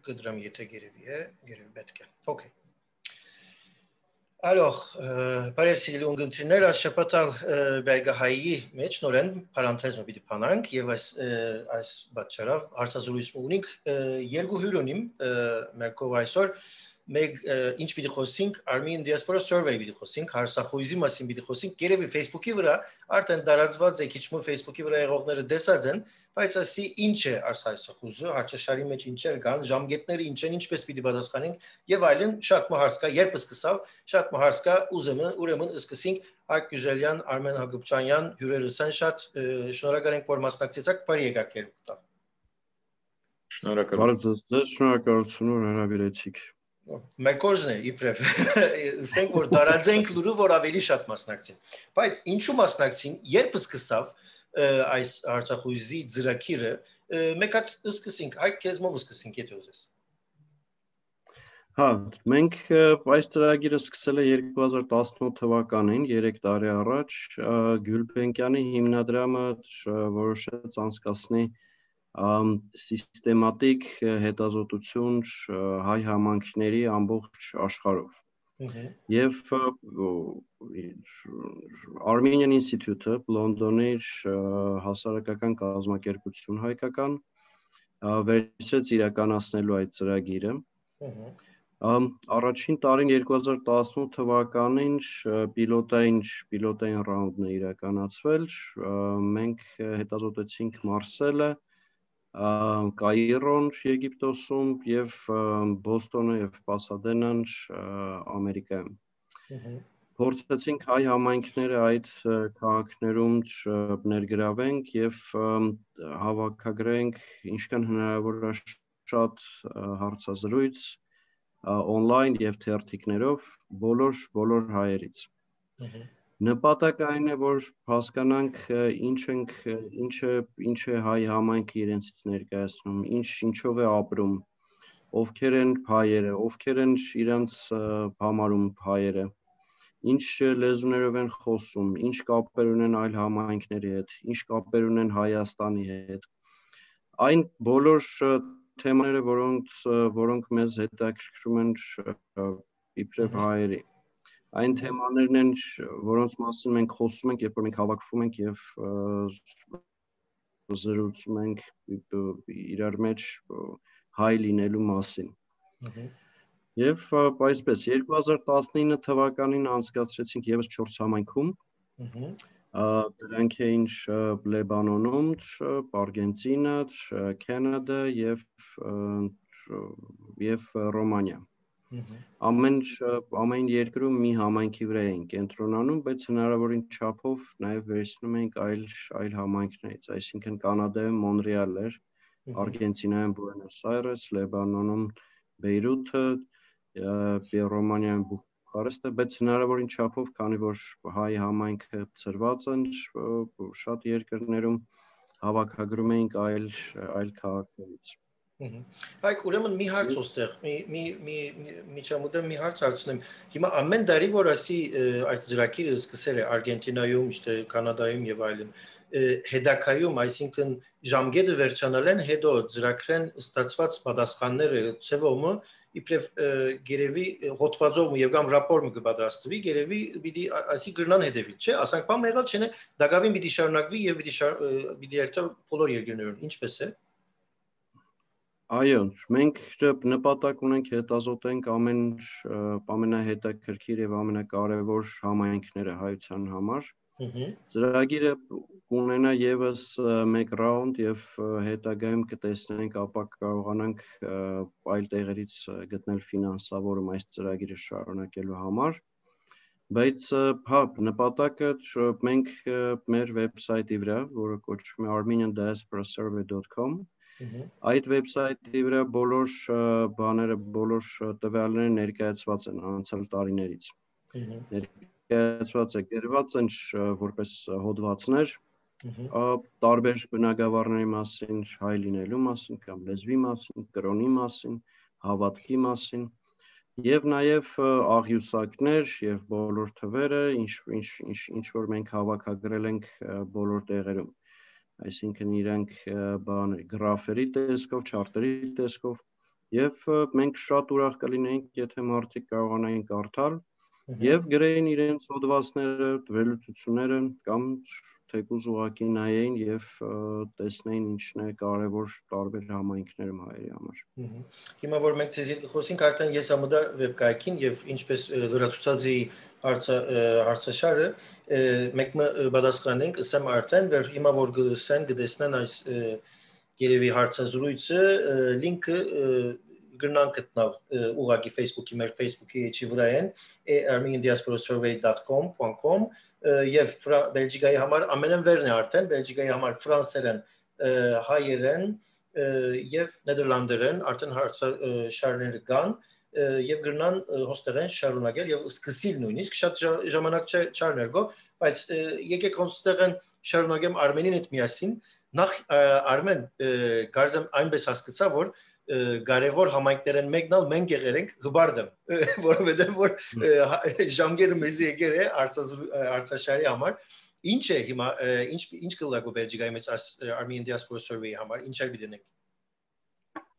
կդրամ եթե գերևի է, գերևի պետք է։ Okay. Alors, բարև սիրելի ունգընտիրներ, այս շաբաթալ Բերգահայի մեջ նորեն պարանթեզը պիտի փանանք եւ այս բացառավ հարցազրույց ունենք երկու հյուր ունիմ մեր կողմ այսօր մեկ ինչ պիտի խոսենք Armenian Diaspora Survey պիտի խոսենք հարցախույզի մասին պիտի խոսենք գերեւի Facebook-ի վրա արդեն դարածված է քիչ մը Facebook-ի վրա եղողները դեսած են բայց ասի ինչ է հարցախույզը հարցաշարի մեջ ինչեր կան ժամկետները ինչ են ինչպես պիտի պատասխանենք եւ այլն շատ մահարց կա երբ սկսավ շատ մահարց կա ուրեմն սկսենք Այկ Գյուզելյան Արմեն Հակոբյանյան հյուրերս են շատ շնորհակալ ենք որ մասնակցեցաք բարի եկաք երկու Շնորհակալություն որ հրավիրեցիք Մեր կորզն է իբրև ասենք որ դարաձենք լուրը որ ավելի շատ մասնակցին բայց ինչու մասնակցին երբ սկսավ այս հարցախույզի ծրագիրը մեկ հատ սկսենք այ քեզմով սկսենք եթե ուզես Հա մենք այս ծրագիրը սկսել է 2018 թվականին 3 տարի առաջ Գյուլբենկյանի հիմնադրամը որոշեց անցկացնի սիստեմատիկ հետազոտություն հայ համայնքների ամբողջ աշխարհով եւ Armenian Institute-ը Լոնդոնի հասարակական կազմակերպություն հայկական վերցրեց իրականացնելու այդ ծրագիրը Առաջին տարին 2018 թվականին պիլոտային ռաունդն է իրականացվել մենք հետազոտեցինք Մարսելը Կայրոն Եգիպտոսում եւ Բոստոնը եւ Պասադենան Ամերիկայում Փորձեցինք հայ համայնքները այդ քաղաքներում ներգրավենք եւ հավաքագրենք ինչքան հնարավոր է շատ հարցազրույց on-line եւ թերթիկներով բոլոր հայերից Նպատակը այն է որ հասկանանք ինչ է հայ համայնքը իրենցից ներկայացնում ինչով է ապրում ովքեր են հայերը ովքեր են իրենց համարում հայերը ինչ լեզուներով են խոսում ինչ կապեր ունեն այլ համայնքների հետ ինչ կապեր ունեն Հայաստանի հետ այն բոլոր թեմաները որոնք մեզ հետաքրքրում են իբրև հայերի Այն թեմաներն են, որոնց մասին մենք խոսում ենք, երբ որ մենք հավաքվում ենք եւ զրուցում ենք իրար մեջ հայ լինելու մասին։ Եվ այսպես 2019 թվականին անցկացրեցինք եւս 4 համայնքում։ Դրանք էին Լեբանանում, Արգենտինա, Կանադա եւ Ռոմանիա։ Ամեն երկրում մի համայնքի վրա էին կենտրոնանում, բայց հնարավորին չափով նաև վերցնում ենք այլ համայնքներից, այսինքն Կանադայում Մոնրեալ էր, Արգենտինայում Բուենոս Այրես, Լեբանանում Բեյրութը, Ռոմանիայում Բուխարեստը, բայց հնարավորին չափով, քանի որ հայ համայնքը ծրված են շատ երկրներում հավաքագրում էինք այլ քաղաքներից Այք ուրեմն մի հարց ոստեղ, միջամուտեմ մի հարց հարցնեմ, հիմա ամեն դարի որ ասի այդ ծրագիրը սկսել է Արգենտինայում, Կանադայում եւ այլն, հետակայում, այսինքն ժամկետը վերջանալ են, հետո ծրագրեն ստացված պատասխանները ցևոմը իբրև գերեւի հոդվածով եւ կամ ռապորտը կպատրաստվի, գերեւի պիտի ասի գրնան հետեւի, չէ՞, ասենք բան եղած չէ, դակավին պիտի շարունակվի եւ պիտի երթա բոլոր երկրներում, ինչպես է Այո, մենք նպատակ ունենք հետազոտենք ամենահետաքրքիր եւ ամենակարևոր համայնքները հայության համար։ Ծրագիրը կունենա եւս մեկ ռաունդ եւ հետագայում կտեսնենք ապա կարողանանք այլ տեղերից գտնել ֆինանսավորում այս ծրագիրը շարունակելու համար։ Բայց հա նպատակը մենք մեր վեբսայթի վրա, որը կոչվում է armeniandiasporasurvey.com Այդ վեբսայթի վրա բոլոր բաները, բոլոր տվյալները ներկայացված են անցյալ տարիներից։ Ներկայացված է գրված են որպես հոդվածներ, տարբեր բնագավառների մասին, հայ լինելու մասին կամ լեզվի մասին, կրոնի մասին, հավատքի մասին, եւ նաեւ աղյուսակներ եւ բոլոր թվերը, ինչ որ մենք հավաքագրել ենք բոլոր տեղերում։ Այսինքն իրանք գրաֆերի տեսքով, չարտերի տեսքով Եվ մենք շատ ուրախ կլինեինք, եթե մարդիկ կարողանային կարդալ եւ գրեին իրենց հոդվածները, վերլուծությունները կամ թեկուզ ուղղակի նայեին եւ տեսնեին ինչն է կարեւոր տարբեր համայնքներում հայերի համար։ Հիմա որ մենք ցեզի խոսենք արդեն ես ամոդա վեբկայքին եւ ինչպես լրացուցածի հարցաշարը մենք պատասխանենք ասեմ արդեն որ հիմա որ գսեն գտեսնեն այս երևի հարցազրույցը լինքը գրնան գտնալ ուղղակի Facebook-ի մեր Facebook-ի էջի վրա են armeniandiasporasurvey.com եւ Բելգիկայի համար ամենավերն է արդեն Բելգիկայի համար ֆրանսերեն հայերեն եւ նեդերլանդերեն արդեն հարցաշարներ կան եւ գրնան հոստերեն շարունակել եւ սկսիլ նույնիսկ շատ ժամանակ չարներգո բայց եկեք հոստերեն շարունակեմ Արմենին հետ միասին նախ Արմեն գարձեմ այնպես հասկացա որ կարևոր համայնքներն մեկնալ մենք եղել ենք հբարդեմ որովհետեւ որ ժամկետը մեզ եկել է արցաշարի համար ինչ է հիմա ինչ կլագու Բելգիկայի մեջ Armenian Diaspora Survey-ի համար ինչ է գտնենք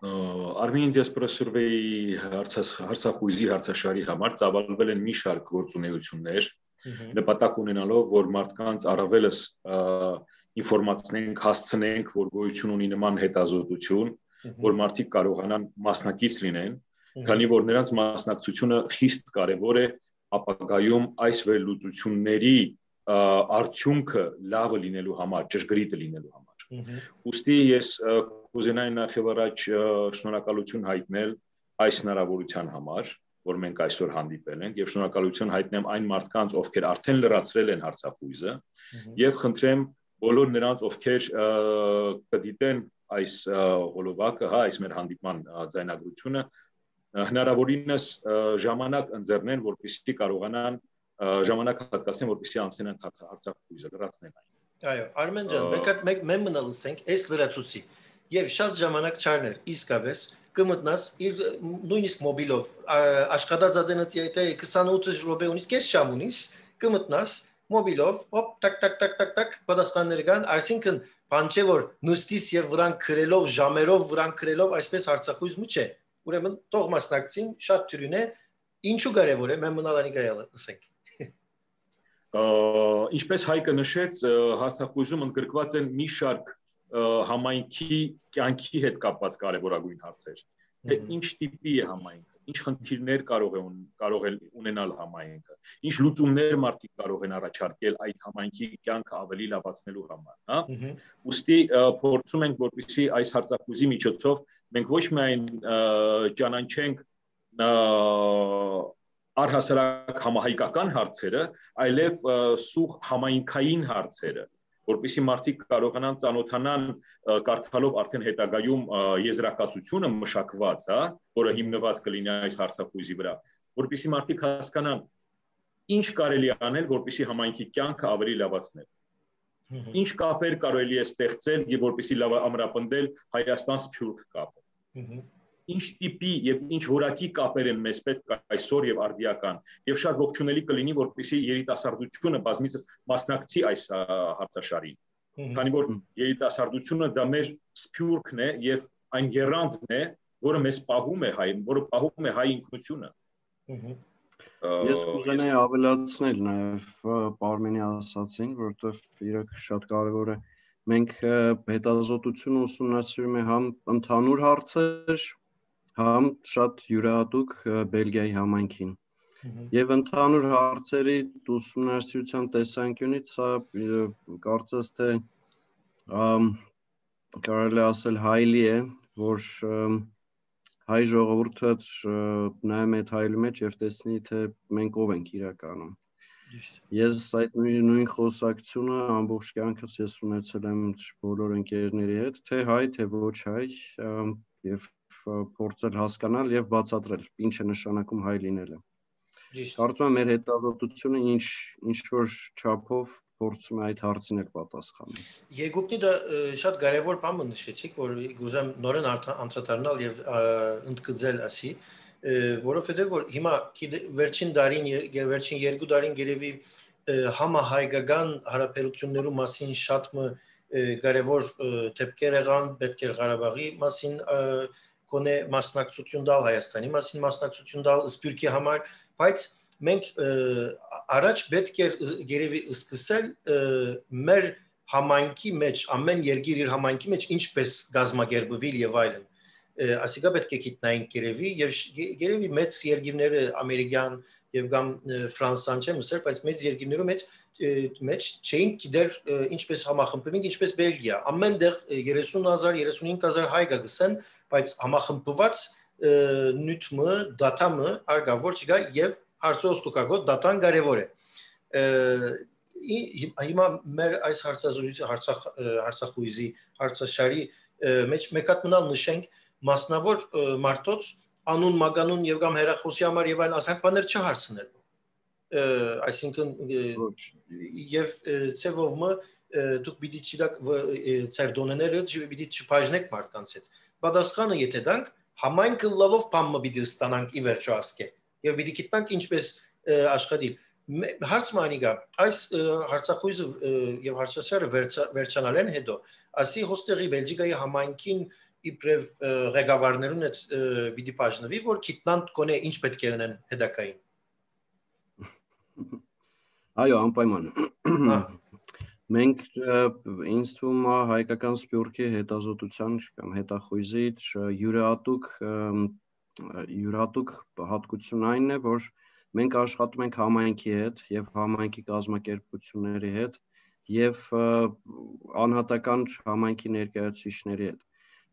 Armenian Diaspora Survey-ի հարցախույզի հարցաշարի համար ծավալվել են մի շարք գործունեություններ նպատակ ունենալով որ մարդկանց առավելս ինֆորմացնենք հասցնենք որ գոյություն ունի նման հետազոտություն որ մարդիկ կարողանան մասնակից լինեն քանի որ նրանց մասնակցությունը խիստ կարևոր է ապագայում այս վերլուծությունների արդյունքը լավը լինելու համար ճշգրիտը լինելու համար ուստի ես կուզենայի նախ առաջ շնորհակալություն հայտնել այս հնարավորության համար որ մենք այսօր հանդիպել ենք եւ շնորհակալություն հայտնեմ այն մարդկանց ովքեր արդեն լրացրել են հարցախույզը եւ խնդրեմ բոլոր նրանց ովքեր կդիտեն այս հոլովակը, այս մեր հանդիպման ձայնագրությունը հնարավորինս ժամանակ ընձեռնեն, որպեսզի կարողանան ժամանակ հատկացնեն, որպեսզի անցնեն հարցախույզը, լրացնեն այն։ Այո, Արմեն ջան, մենք մնալ լսենք այս լրացուցի եւ շատ ժամանակ չարներ, իսկապես կմտնաս իր նույնիսկ մոբիլով աշխատած ադենը դիեթա 28 րոպե ունից կես շամ ունից կմտնաս մոբիլով հոպ տակ պատասխաններ կան, այսինքն բան չէ որ նստիս եւ վրան քրելով ժամերով վրան քրելով այսպես հարցախույզ մի չէ ուրեմն թող մասնակցին շատ թյուրին է ինչու կարեւոր է մենք մնալանի գայալը ասենք ինչպես Հայկը նշեց հարցախույզում ընդգրկված են մի շարք համայնքի կյանքի հետ կապված կարևորագույն հարցեր թե ինչ տիպի է համայնքը ինչ խնդիրներ կարող է ունենալ համայնքը ինչ լուծումներ մարդիկ կարող են առաջարկել այդ համայնքի կյանքը ավելի լավացնելու համար հա ուստի փորձում ենք որպեսզի այս հարցախույզի միջոցով մենք ոչ միայն ճանաչենք առհասարակ համահայկական հարցերը այլև սուղ համայնքային հարցերը որպեսզի մարդիկ կարողանան ծանոթանան կարդալով արդեն հետագայում եզրակացությունը մշակված, հա, որը հիմնված կլինի այս հարցախույզի վրա, որպեսզի մարդիկ հասկանան ինչ կարելի է անել, որպեսզի համայնքի կյանքը ավելի լավացնել։ Ինչ կապեր կարելի է ստեղծել եւ որպեսզի լավ ամրապնդել Հայաստան-Սփյուռք կապը։ Ինչ տիպի եւ ինչ որակի կապեր են մեզ պետք այսօր եւ արդիական եւ շատ ողջունելի կլինի որպեսզի երիտասարդությունը բազմիցս մասնակցի այս հարցաշարին քանի որ երիտասարդությունը դա մեր սփյուռքն է եւ այն եռանդն է որը մեզ պահում է հայ որը պահում է հայ ինքնությունը Ես կուզենայի ավելացնել նաեւ Պարմենի ասացին որովհետեւ իրոք շատ կարեւոր է մենք հետազոտությունը ուսումնասիրում ենք համ ընդհանուր հարցեր համ շատ յուրահատուկ Բելգիայի համայնքին եւ ընդհանուր հարցերի ուսումնասիրության տեսանկյունից սա կարծես թե կարելի ասել հայլի է որ հայ ժողովուրդը նայում է հայլի մեջ եւ տեսնի թե մենք ով ենք իրականում ես այդ նույն խոսակցությունը ամբողջ կյանքս ես ունեցել եմ բոլոր ընկերների հետ թե հայ թե ոչ հայ եւ փորձել հասկանալ եւ բացատրել ինչ է նշանակում հայ լինելը։ Կարծում եմ մեր հետազոտությունը ինչ որ չափով փորձում է այդ հարցին էլ պատասխանել։ Երկուքնի դա շատ կարևոր բան նշեցիք, որ գուզեմ նորեն անդրադառնալ եւ ընդգծել ասի, որովհետեւ որ հիմա վերջին դարին վերջին 2 դարին երևի համահայկական հարաբերություններու մասին շատ կարևոր դեպքեր եղան Պետքեր Ղարաբաղի մասին կոնե մասնակցություն տալ Հայաստանի մասին մասնակցություն տալ Սփյուռքի համար, բայց մենք առաջ պետք է երևի սկսել մեր համայնքի մեջ, ամեն երկիր իր համայնքի մեջ ինչպես գազմագերբվել եւ այլն։ Ասիկա պետք է գիտնայինք երևի եւ երևի մեծ երկիրները ամերիկյան եւ կամ ֆրանսան չեմ ասել, բայց մեծ երկիրներում մեջ չէին գիտեր ինչպես համախմբվենք, ինչպես Բելգիա։ Ամենտեղ 30,000, 35,000 հայ գսեն, բայց համախմբված նյութը, դատամը արգավոր չկա եւ հարցոսկոկագոտ դատան կարեւոր է։ Հիմա մեր այս հարցազրույցը հարցախույզի հարցաշարի մեջ մեկ հատ մնալ նշենք մասնավոր մարդոց անուն մագանուն եւ կամ հերախոսի համար եւ այլ ասանք բաներ չհարցնել։ Այսինքն եւ ծեվովը դուք պիտի չդակ ծեր դոնեները պիտի չբաժնեք մարդկանց հետ։ Պատասխանը եթե դանք համայնքը լալով բամը պիտի ստանանք ի վերջո ասկե եւ պիտի գիտնանք ինչպես աշխատել։ Հարց մանիգա այս հարցախույզը եւ հարցաշարը վերջանալեն հետո ասի հոստերի Բելգիկայի համայնքին իբրև ղեկավարներուն հետ պիտի բաժնվի որ գիտնան կոնե ինչ պետք է ունեն հետակային։ Այո, անպայման։ Մենք ինձ թվում է հայկական սփյուռքի հետազոտության կամ հետախույզի յուրահատուկ հատկություն այն է, որ մենք աշխատում ենք համայնքի հետ եւ համայնքի կազմակերպությունների հետ եւ անհատական համայնքի ներկայացուցիչների հետ։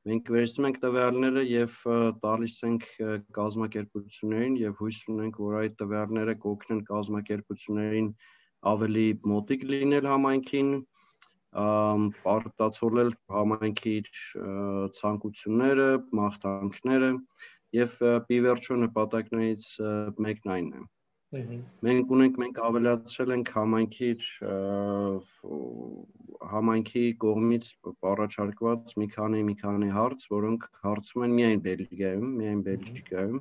Մենք վերցնում ենք տվյալները եւ տալիս ենք կազմակերպություններին եւ հույս ունենք, որ այդ տվյալները կօգնեն կազմակերպություններին ավելի մոտիկ լինել համայնքին, արտացոլել համայնքի ցանկությունները, մաղթանքները եւ ի վերջո նպատակներից մեկն այն է։ Մենք ավելացրել ենք համայնքի կողմից առաջարկված մի քանի հարց, որոնք հարցում են միայն Բելգիկայում,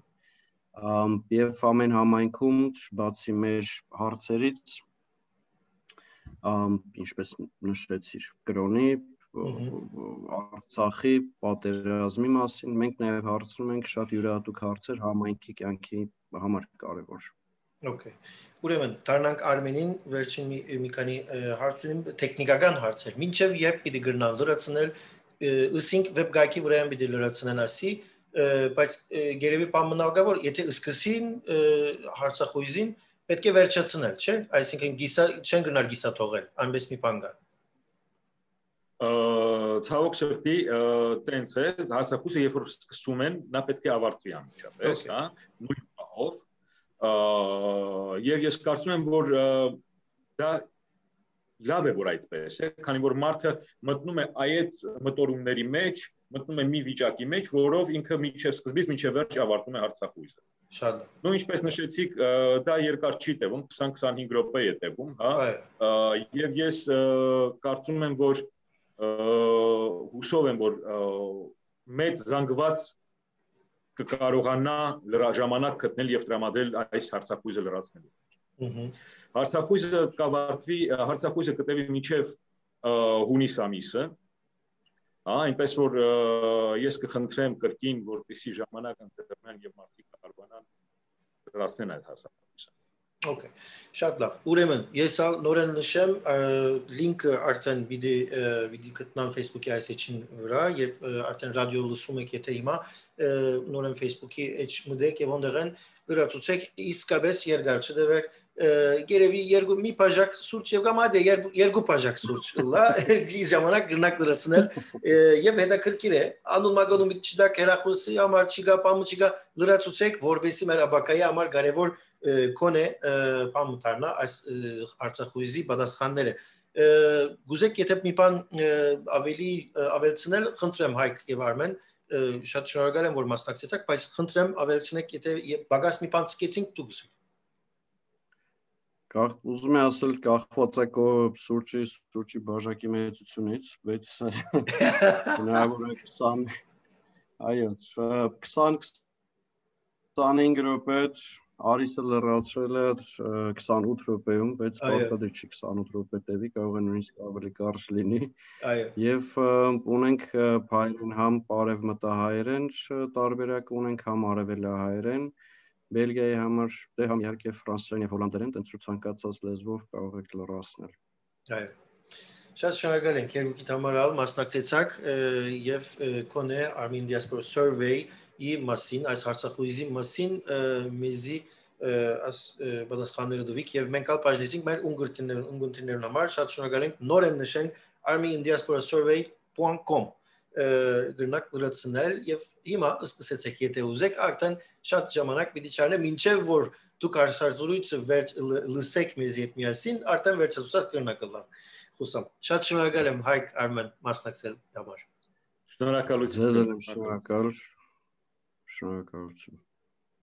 եւ ամեն համայնքում բացի մեր հարցերից, ինչպես նշեցիր, կրոնի, Արցախի պատերազմի մասին, մենք նաեւ հարցնում ենք շատ յուրահատուկ հարցեր համայնքի կյանքի համար կարեւոր։ Okay. Ուրեմն դառնանք Արմենին վերջին մի քանի հարցերին տեխնիկական հարցեր։ Մինչև երբ պիտի գրնալ լրացնել, ըսինք վեբ գայքի վրա պիտի լրացնեն ասի, բայց գերեւի բամնալ գա որ եթե սկսին հարցախույզին պետք է վերջացնել, չէ՞։ Այսինքն չեն գնալ գիսա թողել, այնպես մի բան կա։ Ցավոք սրտի տենց է, հարցախույզը երբ որ սկսում են, նա պետք է ավարտվի անմիջապես, հա, նույն պահով։ Եվ ես կարծում եմ, որ դա լավ է, որ այդպես է, քանի որ մարդը մտնում է այդ մտորումների մեջ, մտնում է մի վիճակի մեջ, որով ինքը սկզբից մինչև վերջ ավարտում է հարցախույզը։ Շատ։ Նույն ինչպես նշեցիք, դա երկար չի տևում, 20-25 րոպե է տևում, հա։ Եվ ես կարծում եմ, որ հուսով եմ, որ մեծ զանգված կկարողանա ժամանակ գտնել եւ տրամադրել այս հարցախույզը լրացնելու։ Հարցախույզը կավարտվի, հարցախույզը կտևի մինչեւ հունիս ամիսը, այնպես որ ես կխնդրեմ կրկին, որպեսզի ժամանակ ընձեռնեն եւ մարդիկ կարողանան լրացնել այդ հարցախույզը։ Okay, շատ լավ։ Ուրեմն ես նորեն նշեմ լինքը արդեն պիտի գտնան Facebook-ի այս էջին վրա եւ արդեն ռադիո լսում եք եթե հիմա նորեն Facebook-ի էջ մտեք եւ ոնդեղեն լրացուցեք իսկապես երկար չդվեր գերեւի մի բաժակ սուրճ եւ կամ այդե երկու բաժակ սուրճ լա գիզ ժամանակ գնանք լրացնել եւ հետաքրքիր է անուն մագանուն մի չդակ հերախոսի համար չգա բամը չգա լրացուցեք որովհետեւ մեր աբակայի համար կարեւոր կոնե բամտարնա այս արցախույզի պատասխանները գուզեք եթե մի բան ավելցնել խնդրեմ Հայկ եւ Արմեն շատ շնորհակալ եմ որ մասնակցեցաք բայց խնդրեմ ավելցնեք եթե բագաս մի բան սկեցինք դուք Ուզում եմ ասել կախված է քո սուրճի բաժակի մեծությունից, բայց հնարավոր է 20 այո 20-25 րոպե Արիսը լրացրել է 28 րոպեում, բայց պարտադիր չի 28 րոպե տևի, կարող է նույնիսկ ավելի կարճ լինի։ Եվ ունենք փայլեն համ արևմտահայերեն տարբերակ ունենք, համ արևելահայերեն։ Բելգիայի համար դե համ իհարկե ֆրանսերեն եւ հոլանդերեն, տենց ցանկացած լեզվով կարող եք լրացնել։ Այո։ Շատ շնորհակալ ենք երկուքիդ համար մասնակցեցաք եւ կոնե Armenian Diaspora Survey-ի մասին, այս հարցախույզի մասին մեզի աս պատասխանները տվիք եւ մենք ալ բաժնեցինք մեր ունգընտիրներուն համար, շատ շնորհակալ ենք, նոր եմ նշենք armeniandiasporasurvey.com գրնակ լրացնել եւ հիմա սկսեցեք, եթե ուզեք, արդեն շատ ժամանակ պիտի չարնե, մինչեւ որ դուք հարցազրույցը լսեք մեզի հետ միասին, արդեն վերջացած կրնակը լավ։ Խուսամ։ Շատ շնորհակալ եմ Հայկ Արմեն մասնակցել համար։ Շնորհակալություն։ Շնորհակալություն։